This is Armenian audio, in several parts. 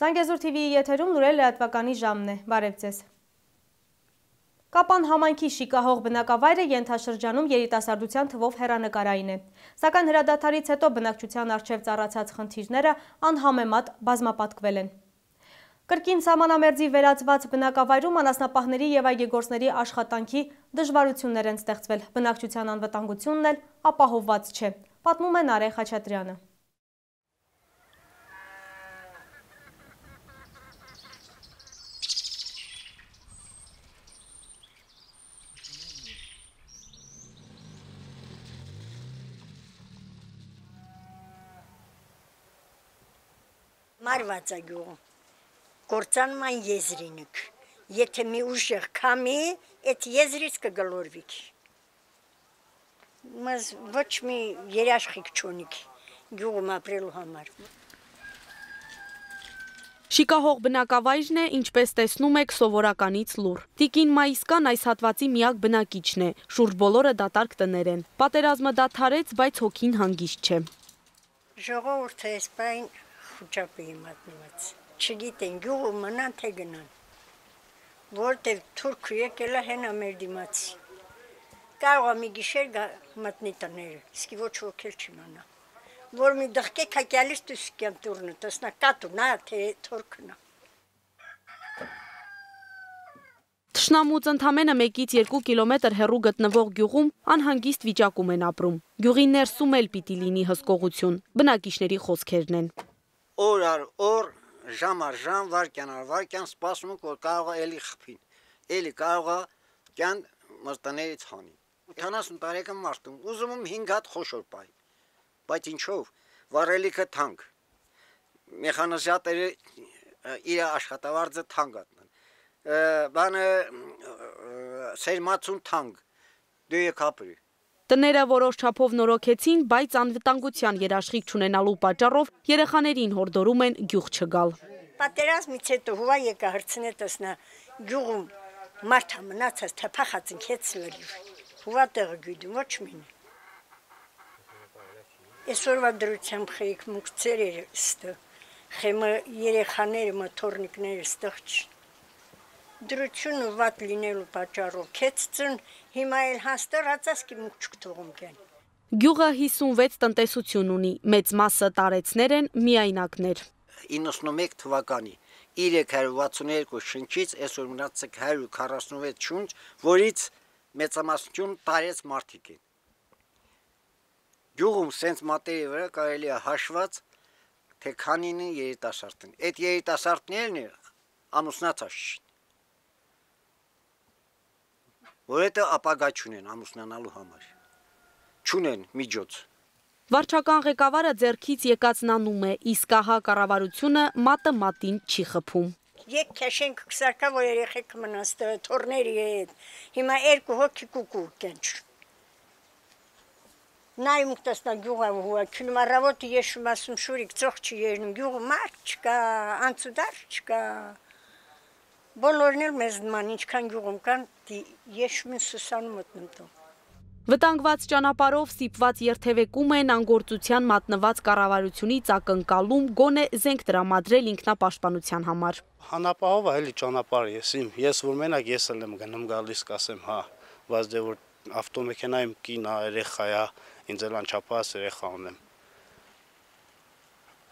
Զանգեզուր TV-ի եթերում լուրեր լրատվականի ժամն է, բարև ձեզ։ Կապան համայնքի շիկահող բնակավայրը ենթաշրջանում երիտասարդության թվով հեռանկարային է, սակայն հրադադարից հետո բնակչության առջև ծառացած խնդիրները անհամեմատ բազմապատկվել են։ Կրկին սահմանամերձի վերածված բնակավայրում անասնապահների և այգեգործների աշխատանքի դժվարություններ են ստեղծվել, բնակչության անվտանգությունն էլ ապահովված չէ, պատմում է Նարե Խաչատրյանը։ Մարված է գյուղում, գործանում այն եզրինք, եթե մի ուժեղ կամի, այդ եզրից կգլորվիք, մզ ոչ մի երաշխիք չունիք գյուղում ապրելու համար։ Շիկահող բնակավայրն է, ինչպես տեսնում եք, սովորականից լուռ։ Տիկին Մայիսկան այս հատվածի միակ բնակիչն է, շուրջ բոլորը դատարկ տներ են։ Պատերազմը դադարեց, բայց հոգին հանգիստ չէ։ Ժողովուրդը այս պայն խուճապի մատնված, չգիտեն գյուղում մնան թե գնան, որտև թուրքը եկել է հենա մեր դիմացի, կարող է մի գիշեր մտնի տները, իսկի ոչ ոք էլ չիմանա, որ մի դղկեք հակյալից տուսկյան տուրնը, տեսնա կատունա, թե թուրքն է։ Թշնամուց ընդամենը 1-2 կիլոմետր հեռու գտնվող գյուղում անհանգիստ վիճակում են ապրում։ Գյուղի ներսում էլ պիտի լինի հսկողություն, բնակիչների խոսքերն են։ Օր առ օր, ժամ առ ժամ, վարքյան առ վարքյան սպասում ենք, որ կարող է էլի խփին, էլի կարող է կյան մրտներից հանի։ 70 տարեկան մարդում, ուզում եմ 5 հատ խոշոր պահի, բայց ինչով, վառելիքը թանկ, մեխանիզատորը իր աշխատավարձը թանկ ատնան, բանը սերմացուն թանկ, դու եք ապրի։ Տները որոշ չափով նորոգեցին, բայց անվտանգության երաշխիք չունենալու պատճառով երեխաներին հորդորում են գյուղ չգալ։ Պատերազմից հետո հուվա եկա հրցնե տեսնա գյուղում մարդա մնացած թե փախած ինքեց լրիվ, հուվա տեղը գույդում ոչ մին։ Այսօրվա դրությամբ խեիք մուկցեր էր ստը, խեմը երեխաները մթորնիկները ստեղ չի։ Դրությունը վատ լինելու պատճառով քեցծն հիմա էլ հաստեր հացասկի մուկ չկթողում կեն։ Գյուղը 56 տնտեսություն ունի, մեծ մասը տարեցներ են, միայնակներ։ 91 թվականի 362 շնչից այսօր մնացեք 146 շունչ, որից մեծամասնություն տարեց մարդիկ են։ Գյուղում սենց մատերի վրա կարելի է հաշված, թե քանին են երիտասարդն։ Այդ երիտասարդներն ամուսնացած չեն։ Որովհետև ապագա չունեն ամուսնանալու համար, չունեն միջոց։ Վարչական ղեկավարը ձեռքից եկածն անում է, իսկ ահա կառավարությունը մատը մատին չի խփում։ Եկ քաշենք քսարկա, որ երեխեք մնաստը թորների հետ, հիմա 2 հոգի կուկու կենչ։ Նայում տեսնա գյուղը հուա, քնում առավոտը եշում ասում շուրիկ ծող չի երնում, գյուղը մարդ չկա, անցուդար չկա։ Բոլորն էլ մեզ նման, ինչքան գյուղում կան, եշում են սուսանում մտնում տո։ Վտանգված ճանապարհով սիպված երթևեկում են անգործության մատնված կառավարությունից ակնկալում գոնե զենք տրամադրել ինքնապաշտպանության համար։ Հանապահով է էլի ճանապարհը, ես որ մենակ ես էլ եմ գնում գալիս կասեմ, հա, բայց դե որ ավտոմեքենայում կին է, երեխա է, ինձ էլ անչափահաս երեխա ունեմ։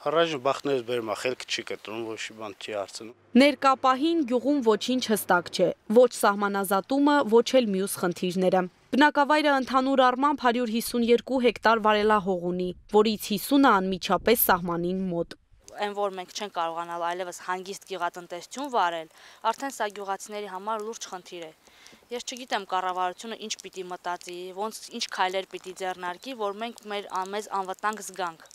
Առաջին բախտներից բերում է, խելքը չի կտրում, ոչ մի բան չի հարցնում։ Ներկա պահին գյուղում ոչինչ հստակ չէ, ոչ սահմանազատումը, ոչ էլ մյուս խնդիրները։ Բնակավայրը ընդհանուր առմամբ 152 հեկտար վարելահող ունի, որից 50-ը անմիջապես սահմանին մոտ։ Այն որ մենք չենք կարողանալ այլևս հանգիստ գյուղատնտեսություն վարել, արդեն սա գյուղացիների համար լուրջ խնդիր է։ Ես չգիտեմ կառավարությունը ինչ պիտի մտածի, ոնց ինչ քայլեր պիտի ձեռնարկի, որ մենք մեզ անվտանգ զգանք,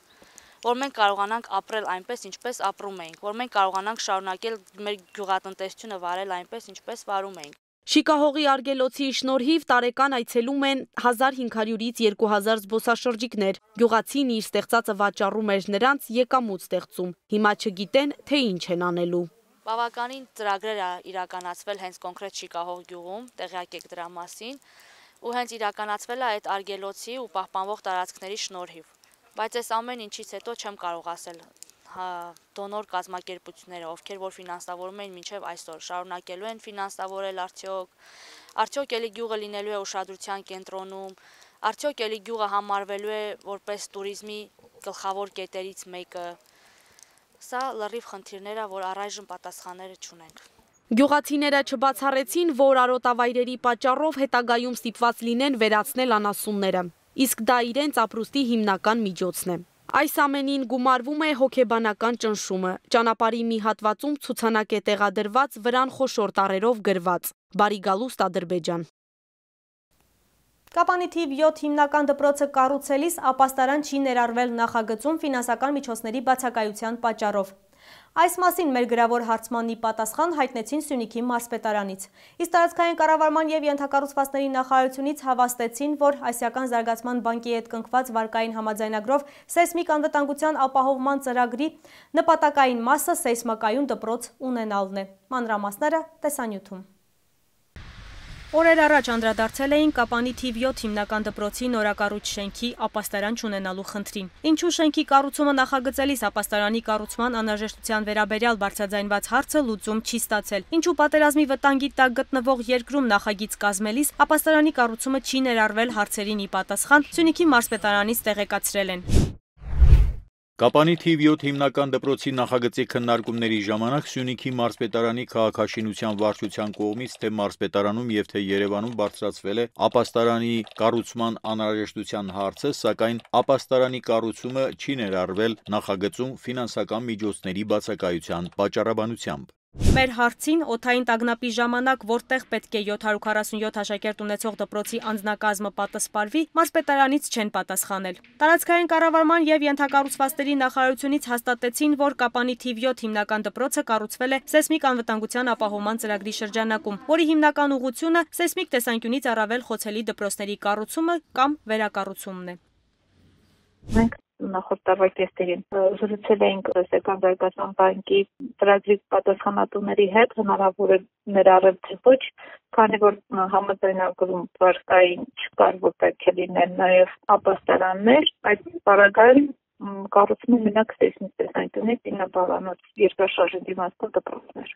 որ մենք կարողանանք ապրել այնպես, ինչպես ապրում էինք, որ մենք կարողանանք շարունակել մեր գյուղատնտեսությունը վարել այնպես, ինչպես վարում էինք։ Շիկահողի արգելոցի շնորհիվ տարեկան այցելում են 1500-ից 2000 զբոսաշրջիկներ։ Գյուղացին իր ստեղծածը վաճառում էր նրանց, եկամուտ ստեղծում։ Հիմա չգիտեն, թե ինչ են անելու։ Բավականին ծրագրեր է իրականացվել հենց կոնկրետ Շիկահող գյուղում, տեղյակ եք դրա մասին, ու հենց իրականացվել է այդ արգելոցի ու պահպանվող տարածքների շնորհիվ։ Բայց այս ամեն ինչից հետո չեմ կարող ասել դոնոր կազմակերպությունները, ովքեր որ ֆինանսավորում են մինչև այսօր, շարունակելու են ֆինանսավորել արդյոք էլի գյուղը լինելու է ուշադրության կենտրոնում, արդյոք էլի գյուղը համարվելու է որպես туриզմի գլխավոր կետերից մեկը։ Սա լրիվ խնդիրներ է, որ առայժմ պատասխանները չունենք։ Գյուղացիները չբացառեցին, որ արոտավայրերի պատճառով հետագայում ստիպված լինեն վերացնել անասունները, իսկ դա իրենց ապրուստի հիմնական միջոցն է։ Այս ամենին գումարվում է հոգեբանական ճնշումը, ճանապարհի մի հատվածում ցուցանակ է տեղադրված վրան խոշոր տառերով գրված «Բարի գալուստ Ադրբեջան»։ Կապանի թիվ 7 հիմնական դպրոցը կառուցելիս ապաստարան չի ներառվել նախագծում ֆինանսական միջոցների բացակայության պատճառով։ Այս մասին մեր գրավոր հարցմանի պատասխան հայտնեցին Սյունիքի մարզպետարանից։ Իսկ տարածքային կառավարման եւ ենթակառուցվածքների նախարարությունից հավաստեցին, որ Ասիական զարգացման բանկի հետ կնքված վարկային համաձայնագրով սեյսմիկ անվտանգության ապահովման ծրագրի նպատակային մասը սեյսմակայուն դպրոց ունենալն է։ Մանրամասները տեսանյութում։ Օրեր առաջ անդրադարձել էին Կապանի թիվ 7 հիմնական դպրոցի նորակառույց շենքի ապաստարան չունենալու խնդրին։ Ինչու շենքի կառուցումը նախագծելիս ապաստարանի կառուցման անհրաժեշտության վերաբերյալ բարձրաձայնված հարցը լուծում չի ստացել։ Ինչու պատերազմի վտանգի տակ գտնվող երկրում նախագիծ կազմելիս ապաստարանի կառուցումը չի ներառվել հարցերին ի պատասխան Սյունիքի մարզպետարանից տեղեկացրել են։ Կապանի թիվ 7 հիմնական դպրոցի նախագծի քննարկումների ժամանակ Սյունիքի մարզպետարանի քաղաքաշինության վարչության կողմից թե մարզպետարանում եւ թե Երևանում բարձրացվել է ապաստարանի կառուցման անհրաժեշտության հարցը, սակայն ապաստարանի կառուցումը չի ներառվել նախագծում ֆինանսական միջոցների բացակայության պատճառաբանությամբ։ Մեր հարցին օդային տագնապի ժամանակ որտեղ պետք է 747 աշակերտ ունեցող դպրոցի անձնակազմը պատասխանվի, մարզպետարանից չեն պատասխանել։ Տարածքային կառավարման եւ ենթակառուցվածքների նախարարությունից հաստատեցին, որ Կապանի թիվ 7 հիմնական դպրոցը կառուցվել է սեյսմիկ անվտանգության ապահովման ծրագրի շրջանակում, որի հիմնական ուղղությունը սեյսմիկ տեսանկյունից առավել խոցելի դպրոցների կառուցումը կամ վերակառուցումն է։ Մենք նախորդ տարվա կեսերին զրուցել էինք Ասիական զարգացման բանկի ծրագրի պատասխանատուների հետ, հնարավոր է ներառել թե ոչ, քանի որ համաձայնագրում վարկային չկար, որ պետք է լինեն նաև ապաստարաններ, այդ պարագայում կառուցումը մենակ սեյսմիկ տեսանկյունից իննաբավանոց երկրաշարժի դիմացող դպրոցներ։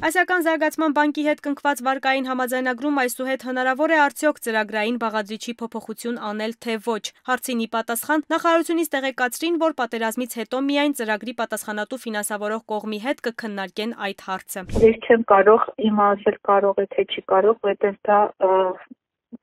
Ասիական զարգացման բանկի հետ կնքված վարկային համաձայնագրում այսուհետ հնարավոր է արդյոք ծրագրային բաղադրիչի փոփոխություն անել թե ոչ։ Հարցին ի պատասխան նախարարությունից տեղեկացրին, որ պատերազմից հետո միայն ծրագրի պատասխանատու ֆինանսավորող կողմի հետ կքննարկեն այդ հարցը։ Ես չեմ կարող իմացել կարող է թե չի կարող, որտեղ դա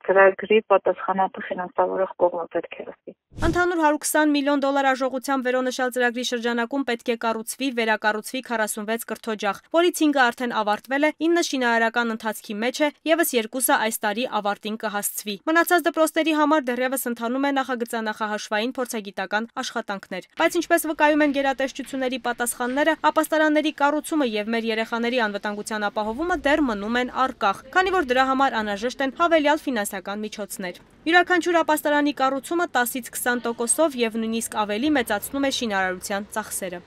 ծրագրի պատասխանատու ֆինանսավորող կողմը պետք է ասի։ Ընդհանուր 120 միլիոն դոլար արժողությամբ վերոնշյալ ծրագրի շրջանակում պետք է կառուցվի, վերակառուցվի 46 կրթօջախ, որից 5-ը արդեն ավարտվել է, 9 շինարարական ընթացքի մեջ է, եւս 2-ը այս տարի ավարտին կհասցվի։ Մնացած դպրոցների համար դեռևս ընթանում է նախագծանախահաշվային փորձագիտական աշխատանքներ։ Բայց ինչպես վկայում են գերատեսչությունների պատասխանները, ապաստարանների կառուցումը եւ մեր երեխաների անվտանգության ապահովումը դեռ մնում են առկախ, քանի որ դրա համար անհրաժեշտ են հավելյալ ֆինանսական միջոցներ։ Յուրաքանչյուր ապաստարանի կառուցումը 10-ից 20%-ով եւ նույնիսկ ավելի մեծացնում է շինարարության ծախսերը։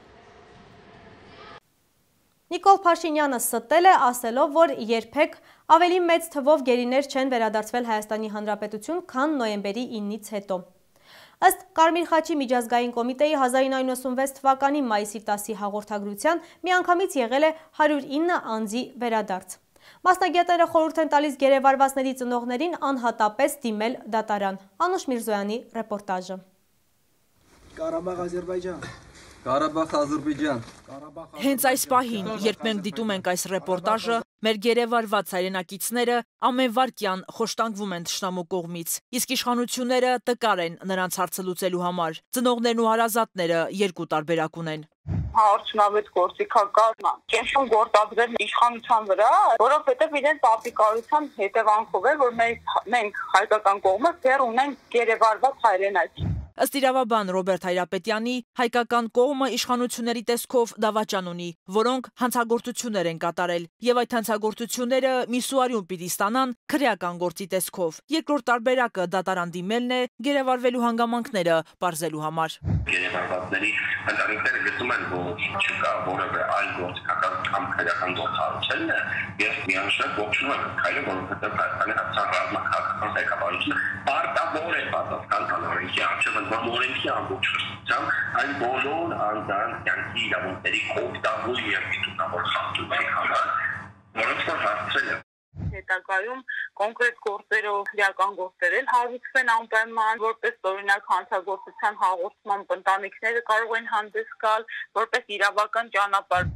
Նիկոլ Փաշինյանը ստել է, ասելով, որ երբեք ավելի մեծ թվով գերիներ չեն վերադարձվել Հայաստանի Հանրապետություն, քան նոյեմբերի 9-ից հետո։ Ըստ Կարմիր խաչի միջազգային կոմիտեի 1996 թվականի մայիսի 10-ի հաղորդագրության միանգամից եղել է 109 անձի վերադարձ։ Մասնագետները խորհուրդ են տալիս գերեվարվածների ծնողներին անհատապես դիմել դատարան։ Անուշ Միրզոյանի ռեպորտաժը։ Ղարաբաղ Ադրբեջան։ Ղարաբաղ Ադրբեջան։ Հենց այս պահին, երբ մենք դիտում ենք այս ռեպորտաժը, մեր գերեվարված հայրենակիցները ամենվարկյան խոշտանգվում են թշնամու կողմից, իսկ իշխանությունները տկար են նրանց հարցը լուծելու համար։ Ծնողներն ու հարազատները երկու տարբերակ ունեն։ Արդյունավետ գործիքակազմը կենտրոն գործադրել իշխանության վրա, որովհետև իրենց ապիկարության հետևանքով է, որ մենք հայկական կողմը դեռ ունենք գերեվարված հայրենաք։ Ըստ իրավաբան Ռոբերտ Հայրապետյանի, հայկական կողմը իշխանությունների տեսքով դավաճան ունի, որոնք հանցագործություններ են կատարել, եւ այդ հանցագործությունները միսուարիում պիտի ստանան քրեական գործի տեսքով։ Երկրորդ տարբերակը դատարան դիմելն է գերեվարվելու հանգամանքները պարզելու համար։ Գերեվարվածների ընտանիքները գտնում են, որ չկա որևէ այլ գործիքական կամ քրեական գործառույթ եւ միանշանակ ողջունում են քայլը, որովհետեւ Հայաստանի հանրապետության ռազմաքաղաքական ղեկավարությունը պարտավոր է պատասխան տալ օրենքի առջև ընդվան օրենքի ամբողջությամբ այն բոլոր անձանց կյանքի իրավունքների կոպտավոր եւ դիտունավոր խախտումների համար, որոնց որ հասցրել է հետագայում կոնկրետ գործերով քրեական գործեր էլ հարուցվեն անպայման, որպես օրինակ հանցագործության հաղորդմամբ ընտանիքները կարող են հանդես գալ, որպես իրավական ճանապարհ։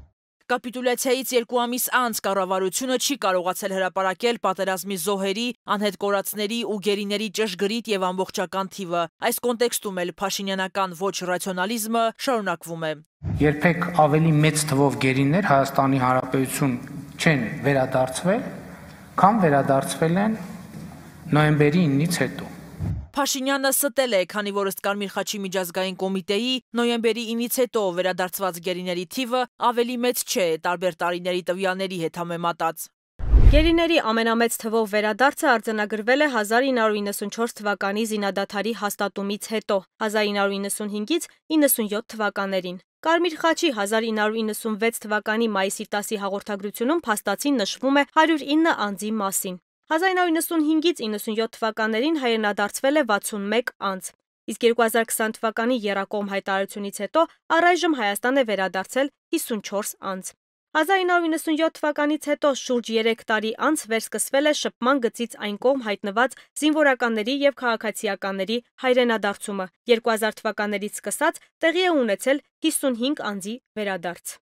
Կապիտուլյացիայից 2 ամիս անց կառավարությունը չի կարողացել հրապարակել պատերազմի զոհերի, անհետ կորածների ու գերիների ճշգրիտ եւ ամբողջական թիվը։ Այս կոնտեքստում էլ փաշինյանական ոչ ռացիոնալիզմը շարունակվում է։ Երբեք ավելի մեծ թվով գերիներ Հայաստանի Հանրապետություն չեն վերադարձվել, քան վերադարձվել են նոյեմբերի 9-ից հետո։ Փաշինյանը ստել է, քանի որ ըստ Կարմիր խաչի միջազգային կոմիտեի նոյեմբերի 9-ից հետո վերադարձված գերիների թիվը ավելի մեծ չէ տարբեր տարիների տվյալների հետ համեմատած։ Գերիների ամենամեծ թվով վերադարձը արձանագրվել է 1994 թվականի զինադադարի հաստատումից հետո, 1995-ից 97 թվականներին։ Կարմիր խաչի 1996 թվականի մայիսի 10-ի հաղորդագրությունում փաստացին նշվում է 109 անձի մասին։ 1995-ից 97 թվականներին հայրենադարձվել է 61 անձ, իսկ 2020 թվականի եռակողմ հայտարարությունից հետո առայժմ Հայաստան է վերադարձել 54 անձ։ 1997 թվականից հետո շուրջ 3 տարի անց վերսկսվել է շփման գծից այն կողմ հայտնված զինվորականների եւ քաղաքացիականների հայրենադարձումը։ 2000 թվականներից սկսած տեղի է ունեցել 55 անձի վերադարձ։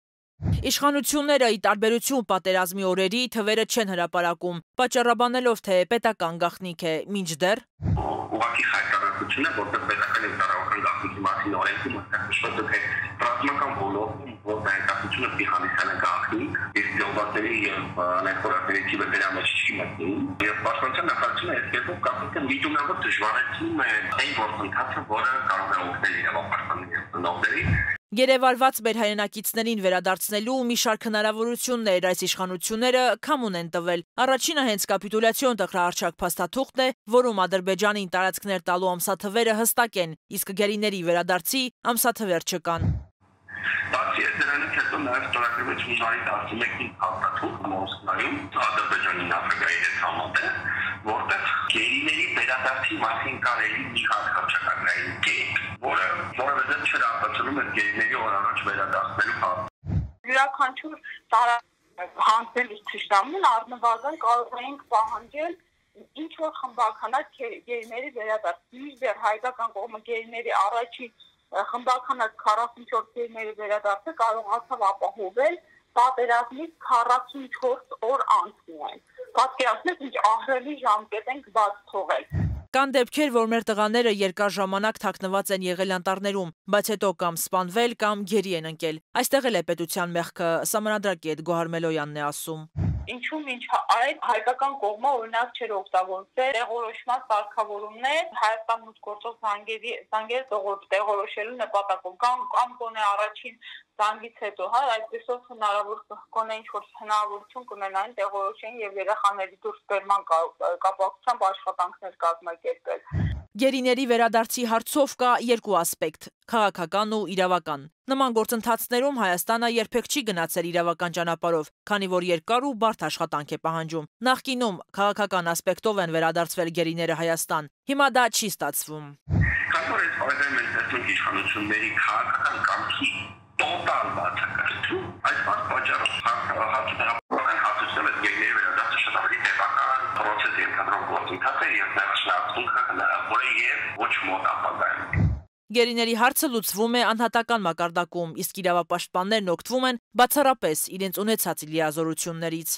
Իշխանությունները ի տարբերություն պատերազմի օրերի թվերը չեն հրապարակում, պատճառաբանելով, թե պետական գաղտնիք է, մինչդեռ ուղղակի հայտարարությունը, որպես պետական եւ տարածական գաղտնիքի մասին օրենքում նշված է, թե ռազմական ոլորտում որ հայտարարությունը պիհանիսյանը գաղտնիք, իսկ ժողովրդների եւ ներկայացների թիվը դրա մեջ չի մտնում, եւ պաշտպանության նախարարությունը այս կերպով գաղտնիքը միջնավոր դժվարացնում է այն գործընթացը, որը կարող է օգնել իրավապաշտպանների ծնողներին։ Գերեվարված մեր հայրենակիցներին վերադարձնելու մի շարք հնարավորություններ այս իշխանությունները քամուն են տվել։ Առաջինը հենց կապիտուլյացիոն տխրահարչակ փաստաթուղթն է, որում Ադրբեջանին տարածքներ տալու ամսաթվերը հստակ են, իսկ գերիների վերադարձի ամսաթվեր չկան։ Բացի դրանից հետո նաև ստորագրվեց հունվարի 11-ին փաստաթուղթ Մոսկվայում Ադրբեջանի նախագահի հետ համատեղ, որտեղ գերիների վերադարձի մասին կարելի մի հատ հռչակագրային կետ, որը որևէ դեպք չէր արտացոլում այդ գերիների օր առաջ վերադարձնելու հարցը։ Յուրաքանչյուր հանձնելուց թշնամուն առնվազն կարող էինք պահանջել ինչ որ խմբականակ գերիների վերադարձ։ Մինչդեռ հայկական կողմը գերիների առաջին խմբականակ 44 գերիների վերադարձը կարողացավ ապահովել պատերազմից 44 օր անց միայն։ Պատկերացնեք, ինչ ահռելի ժամկետ ենք բաց թողել։ Կան դեպքեր, որ մեր տղաները երկար ժամանակ թաքնված են եղել անտառներում, բայց հետո կամ սպանվել, կամ գերի են ընկել։ Այստեղ էլ է պետության մեղքը, սահմանադրագետ Գոհար Մելոյանն է ասում։ Ինչու մինչ այդ հայկական կողմը օրինակ չէր օգտագործել տեղորոշման սարքավորումներ Հայաստան մուտք գործող զանգերը տեղորոշելու նպատակով կամ գոնե առաջին զանգից հետո, այդպեսով հնարավոր կոնե ինչ-որ հնարավորություն կունենային տեղորոշեն եւ երեխաների դուրս բերման կապակցությամբ աշխատանքներ կազմակերպել։ Գերիների վերադարձի հարցով կա երկու ասպեկտ՝ քաղաքական ու իրավական։ Նման գործընթացներում Հայաստանը երբեք չի գնացել իրավական ճանապարհով, քանի որ երկար ու բարդ աշխատանք է պահանջում։ Նախկինում քաղաքական ասպեկտով են վերադարձվել գերիները Հայաստան, հիմա դա չի ստացվում։ Քանի որ այս օրերին մենք տեսնում ենք իշխանությունների քաղաքական կամքի տոտալ բացակայություն, այս պատճառով հարկահարության հատուցել է գերիների վերադարձը շատ ավելի տևական process ենթադրող գործընթաց է եւ ներշնչությունը հնարավոր է եւ ոչ մոտ ապագայում։ Գերիների հարցը լուծվում է անհատական մակարդակում, իսկ իրավապաշտպաններն օգտվում են բացառապես իրենց ունեցած լիազորություններից։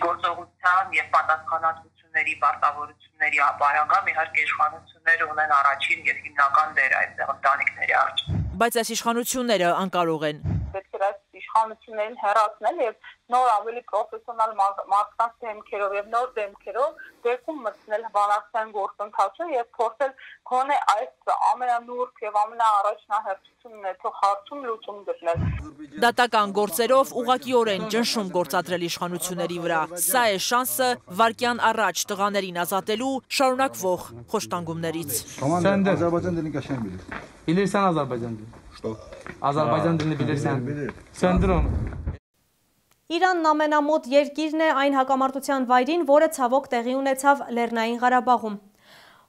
Գործողության եւ պատասխանատվությունների պարտավորությունների ապարագամ իհարկե իշխանությունները ունեն առաջին եւ հիմնական դեր այդտեղ ընտանիքների առջև։ Բայց այս իշխանությունները անկարող են։ Պետք է այս իշխանություններին հեռացնել եւ նոր ավելի պրոֆեսիոնալ մարդկանց դեմքերով եւ նոր դեմքերով դեպքում մտցնել բանակցային գործընթացը եւ փորձել գոնե այս ամենանուրբ եւ ամենաառաջնահերթություն ունեցող հարցում լուծում գտնել։ Դատական գործերով ուղղակիորեն ճնշում գործադրել իշխանությունների վրա։ Սա է շանսը վարկյան առաջ տղաներին ազատելու շարունակվող խոշտանգումներից։ Bilirsən Azərbaycan dilini? Что? Azərbaycan dilini bilirsən? Söndürün. Իրանն ամենամոտ երկիրն է այն հակամարտության վայրին, որը ցավոք տեղի ունեցավ Լեռնային Ղարաբաղում։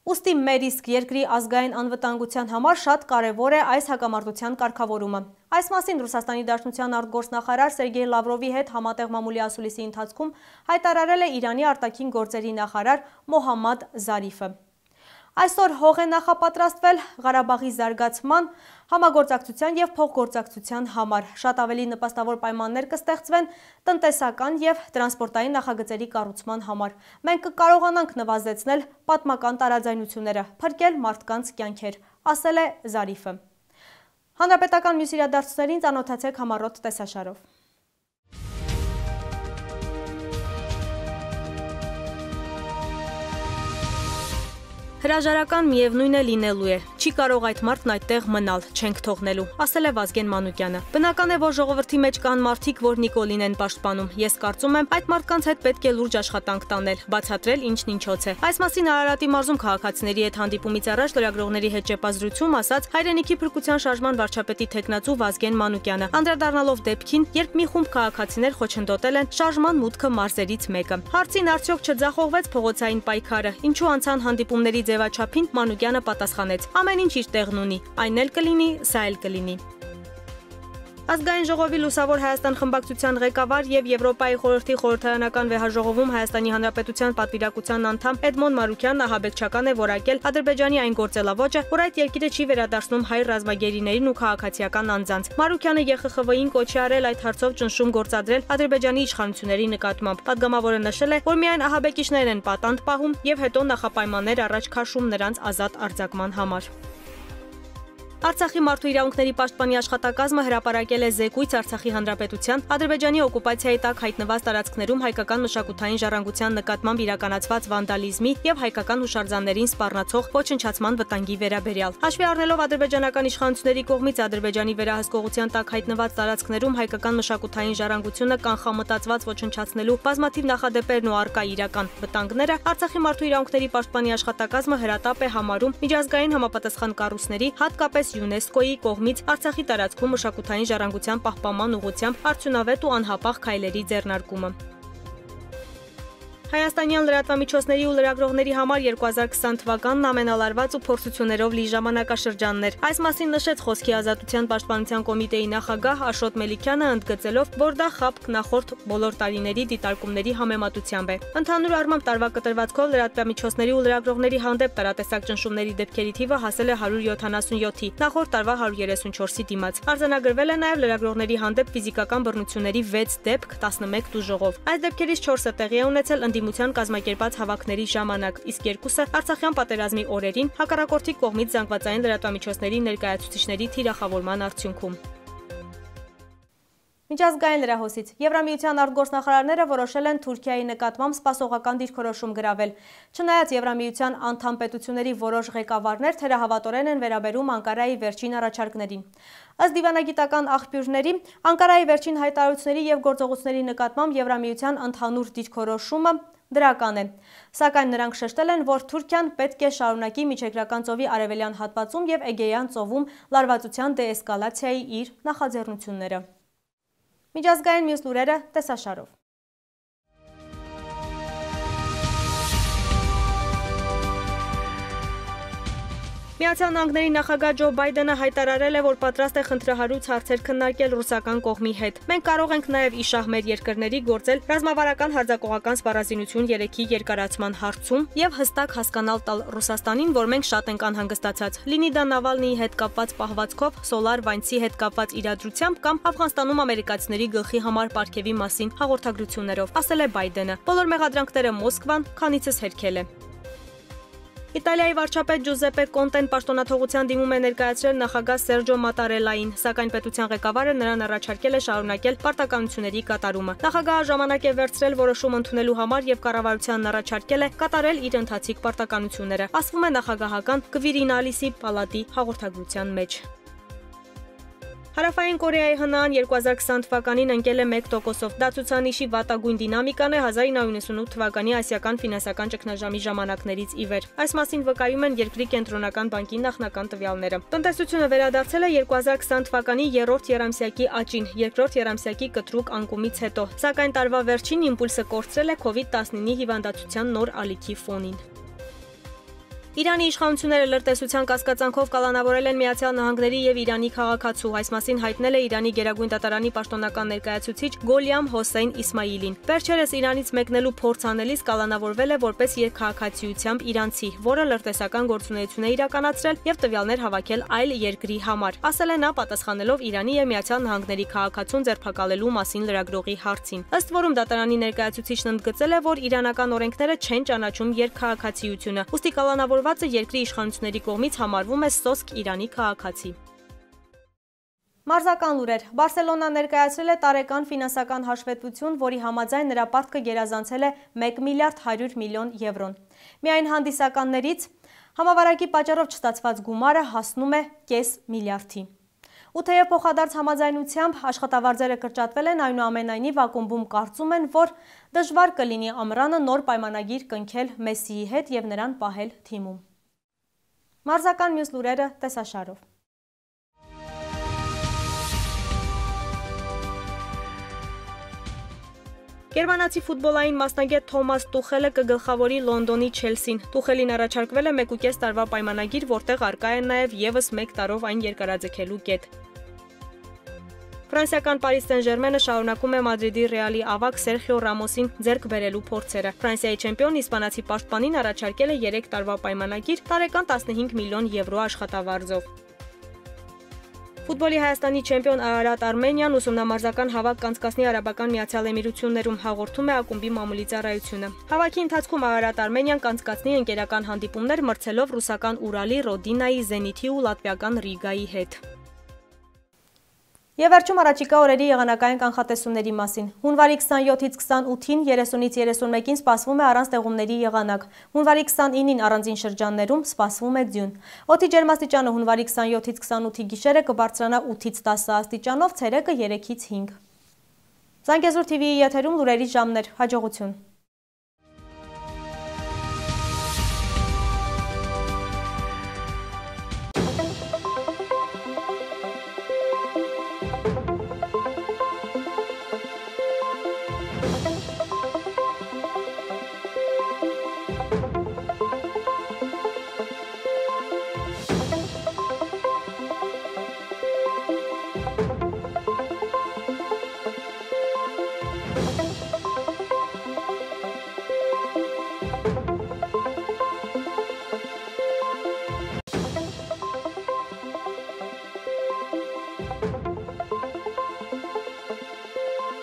Ուստի մեր իսկ երկրի ազգային անվտանգության համար շատ կարևոր է այս հակամարտության կարգավորումը։ Այս մասին Ռուսաստանի Դաշնության արտգործնախարար Սերգեյ Լավրովի հետ համատեղ մամուլի ասուլիսի ընթացքում հայտարարել է Իրանի արտաքին գործերի նախարար Մոհամմադ Զարիֆը։ Այսօր հող է նախապատրաստվել Ղարաբաղի զարգացման, համագործակցության և փոխգործակցության համար։ Շատ ավելի նպաստավոր պայմաններ կստեղծվեն տնտեսական և տրանսպորտային նախագծերի կառուցման համար։ Մենք կկարողանանք նվազեցնել պատմական տարաձայնությունները, փրկել մարդկանց կյանքեր, ասել է Զարիֆը։ Հանրապետական մյուս իրադարձություններին ծանոթացեք համառոտ տեսաշարով։ Հրաժարական միևնույն է լինելու է, չի կարող այդ մարդն այդտեղ մնալ, չենք թողնելու, ասել է Վազգեն Մանուկյանը։ Բնական է, որ ժողովրդի մեջ կան մարդիկ, որ Նիկոլին են պաշտպանում։ Ես կարծում եմ, այդ մարդկանց հետ պետք է լուրջ աշխատանք տանել, բացատրել ինչն ինչոց է։ Այս մասին Արարատի մարզում քաղաքացիների հետ հանդիպումից առաջ լրագրողների հետ ճեպազրույցում ասաց հայրենիքի փրկության շարժման վարչապետի թեկնածու Վազգեն Մանուկյանը, անդրադառնալով դեպքին, երբ մի խումբ քաղաքացիներ խոչընդոտել են շարժման մուտքը մարզերից մեկը։ Հարցին արդյոք չձախողվեց փողոցային պայքարը, ինչու անցան հանդիպումների ձևաչափին, Մանուկյանը պատասխանեց. ամեն ինչ իր տեղն ունի, այն էլ կլինի, սա էլ կլինի։ Ազգային ժողովի Լուսավոր Հայաստան խմբակցության ղեկավար եւ Եվրոպայի խորհրդի խորհրդարանական վեհաժողովում Հայաստանի Հանրապետության պատվիրակության անդամ Էդմոն Մարուկյանն ահաբեկչական է որակել Ադրբեջանի այն գործելավոճը, որ այդ երկիրը չի վերադարձնում հայ ռազմագերիներին ու քաղաքացիական անձանց։ Մարուկյանը ԵԽԽՎ-ին կոչ է արել այդ հարցով ճնշում գործադրել Ադրբեջանի իշխանությունների նկատմամբ։ Պատգամավորը նշել է, որ միայն ահաբեկիչներն են պատանդ պահում եւ հետո նախապայմաններ առաջ քաշում նրանց ազատ արձակման համար։ Արցախի մարդու իրավունքների պաշտպանի աշխատակազմը հրապարակել է զեկույց Արցախի Հանրապետության Ադրբեջանի օկուպացիայի տակ հայտնված տարածքներում հայկական մշակութային ժառանգության նկատմամբ իրականացված վանդալիզմի եւ հայկական հուշարձաններին սպառնացող ոչնչացման վտանգի վերաբերյալ։ Հաշվի առնելով ադրբեջանական իշխանությունների կողմից Ադրբեջանի վերահսկողության տակ հայտնված տարածքներում հայկական մշակութային ժառանգությունը կանխամտածված ոչնչացնելու բազմաթիվ նախադեպերն ու առկա իրական վտանգները, Արցախի մարդու իրավունքների պաշտպանի աշխատակազմը հրատապ է համարում միջազգային համապատասխան կառույցների, հատկապես ՅՈՒՆԵՍԿՕ-ի կողմից Արցախի տարածքում մշակութային ժառանգության պահպանման ուղղությամբ արդյունավետ ու անհապաղ քայլերի ձեռնարկումը։ Հայաստանյան լրատվամիջոցների ու լրագրողների համար 2020 թվականն ամենալարված ու փորձություններով լի ժամանակաշրջանն էր։ Այս մասին նշեց Խոսքի ազատության պաշտպանության կոմիտեի նախագահ Աշոտ Մելիքյանը, ընդգծելով, որ դա ԽԱՊԿ նախորդ բոլոր տարիների դիտարկումների համեմատությամբ է։ Ընդհանուր առմամբ տարվա կտրվածքով լրատվամիջոցների ու լրագրողների հանդեպ տարատեսակ ճնշումների դեպքերի թիվը հասել է 177-ի, նախորդ տարվա 134-ի դիմաց։ Արձանագրվել է նաև լրագրողների հանդեպ ֆիզիկական բռնությունների 6 դեպք 11 տուժողով։ Այս դեպքերից 4-ը տեղի է ունեցել ընդդիմության կազմակերպած հավաքների ժամանակ, իսկ 2-ը Արցախյան պատերազմի օրերին հակառակորդի կողմից զանգվածային լրատվամիջոցների ներկայացուցիչների թիրախավորման արդյունքում։ Միջազգային լրահոսից Եվրամիության արտգործնախարարները որոշել են Թուրքիայի նկատմամբ սպասողական դիրքորոշում գրավել։ Չնայած Եվրամիության անդամ պետությունների որոշ ղեկավարներ թերահավատորեն են վերաբերում Անկարայի վերջին առաջարկներին։ Ըստ դիվանագիտական աղբյուրների, Անկարայի վերջին հայտարարությունների եւ գործողությունների նկատմամբ Եվրամիության ընդհանուր դիրքորոշումը դրական է։ Սակայն նրանք շեշտել են, որ Թուրքիան պետք է շարունակի Միջերկրական ծովի արևելյան հատվածում եւ Էգեյան ծովում լարվածության դեէսկալացիայի իր նախաձեռնությունները։ Միջազգային մյուս լուրերը տեսաշարով։ Միացյալ Նահանգների նախագահ Ջո Բայդենը հայտարարել է, որ պատրաստ է խնդրահարույց հարցեր քննարկել ռուսական կողմի հետ։ Մենք կարող ենք նաև իշահ մեր երկրների գործել ռազմավարական հարձակողական սպառազինություն 3-ի երկարացման հարցում եւ հստակ հասկանալ տալ Ռուսաստանին, որ մենք շատ ենք անհանգստացած։ Լինի դա Նավալնիի հետ կապված պահվածքով, Սոլար Վայնցի հետ կապված իրադրությամբ կամ Աֆղանստանում ամերիկացիների գլխի համար պարգևի մասին հաղորդագրություններով, ասել է Բայդենը։ Բոլոր մեղադրանքները Մոսկվան քանիցս հերքել է։ Իտալիայի վարչապետ Ջուզեպե Կոնտեն պաշտոնաթողության դիմում է ներկայացրել նախագահ Սերջո Մատարելային, սակայն պետության ղեկավարը նրան առաջարկել է շարունակել պարտականությունների կատարումը։ Նախագահը ժամանակ է վերցրել որոշում ընդունելու համար եւ կառավարությանն առաջարկել է կատարել իր ընթացիկ պարտականությունները, ասվում է նախագահական Կվիրինալիսի պալատի հաղորդագրության մեջ։ Հարավային Կորեայի ՀՆԱ-ն 2020 թվականին ընկել է 1%-ով։ Դա ցուցանիշի վատագույն դինամիկան է 1998 թվականի ասիական ֆինանսական ճգնաժամի ժամանակներից ի վեր։ Այս մասին վկայում են երկրի կենտրոնական բանկի նախնական տվյալները։ Տնտեսությունը վերադարձել է 2020 թվականի 3-րդ եռամսյակի աճին, երկրորդ եռամսյակի կտրուկ անկումից հետո, սակայն տարվա վերջին իմպուլսը կորցրել է COVID-19 հիվանդացության նոր ալիքի ֆոնին։ Իրանի իշխանությունները լրտեսության կասկածանքով կալանավորել են Միացյալ Նահանգների եւ Իրանի քաղաքացու, այս մասին հայտնել է Իրանի Գերագույն դատարանի պաշտոնական ներկայացուցիչ Գոլիամ Հոսեյն Իսմայիլին։ Վերջերս Իրանից մեկնելու փորձ անելիս կալանավորվել է որպես երկքաղաքացիությամբ իրանցի, որը լրտեսական գործունեություն է իրականացրել եւ տվյալներ հավաքել այլ երկրի համար, ասել է նա պատասխանելով Իրանի եւ Միացյալ Նահանգների քաղաքացուն ձերբակալելու մասին լրագրողի հարցին։ Ըստ որում դատարանի ներկայացուցիչն ընդգծել է, որ իրանական օրենքները չեն ճանաչում երկքաղաքացիությունը, ուստի կալանավորվածը երկրի իշխանությունների կողմից համարվում է սոսկ Իրանի քաղաքացի։ Մարզական լուրեր։ Բարսելոնան ներկայացրել է տարեկան ֆինանսական հաշվետվություն, որի համաձայն նրա պարտքը գերազանցել է 1 միլիարդ 100 միլիոն եվրոն։ Միայն հանդիսականներից համավարակի պատճառով չստացված գումարը հասնում է կես միլիարդի։ Ու թեև փոխադարձ համաձայնությամբ աշխատավարձերը կրճատվել են, այնուամենայնիվ ակումբում կարծում են, որ դժվար կլինի ամռանը նոր պայմանագիր կնքել Մեսսիի հետ եւ նրան պահել թիմում։ Մարզական մյուս լուրերը տեսաշարով։ Գերմանացի ֆուտբոլային մասնագետ Թոմաս Տուխելը կգլխավորի Լոնդոնի Չելսին։ Տուխելին առաջարկվել է 1.5 տարվա պայմանագիր, որտեղ առկա է նաև եւս 1 տարով այն երկարաձգելու կետ։ Ֆրանսիական Պարիս Սեն-Ժերմենը շարունակում է Մադրիդի Ռեալի ավագ Սերխիո Ռամոսին ձեռք բերելու փորձերը։ Ֆրանսիայի չեմպիոն իսպանացի պաշտպանին առաջարկել է 3 տարվա պայմանագիր տարեկան 15 միլիոն եվրո աշխատավարձով։ Ֆուտբոլի Հայաստանի չեմպիոն Արարատ Արմենիան ուսումնամարզական հավաք կանցկացնի Արաբական Միացյալ Էմիրություններում, հաղորդում է ակումբի մամուլի ծառայությունը։ Հավաքի ընթացքում Արարատ Արմենիան կանցկացնի ընկերական հանդիպումներ մրցելով ռուսական Ուրալի, Ռոդինայի, Զենիթի ու լատվիական Ռիգայի հետ։ Եվ վերջում առաջիկա օրերի եղանակային կանխատեսումների մասին։ Հունվարի 27-ից 28-ին 30-ից 31-ին սպասվում է առանց տեղումների եղանակ։ Հունվարի 29-ին առանձին շրջաններում սպասվում է ձյուն։ Օդի ջերմաստիճանը հունվարի 27-ից 28-ի գիշերը կբարձրանա 8-ից 10 աստիճանով, ցերեկը 3-ից 5։ Զանգեզուր TV-ի եթերում լուրերի ժամներ, հաջողություն։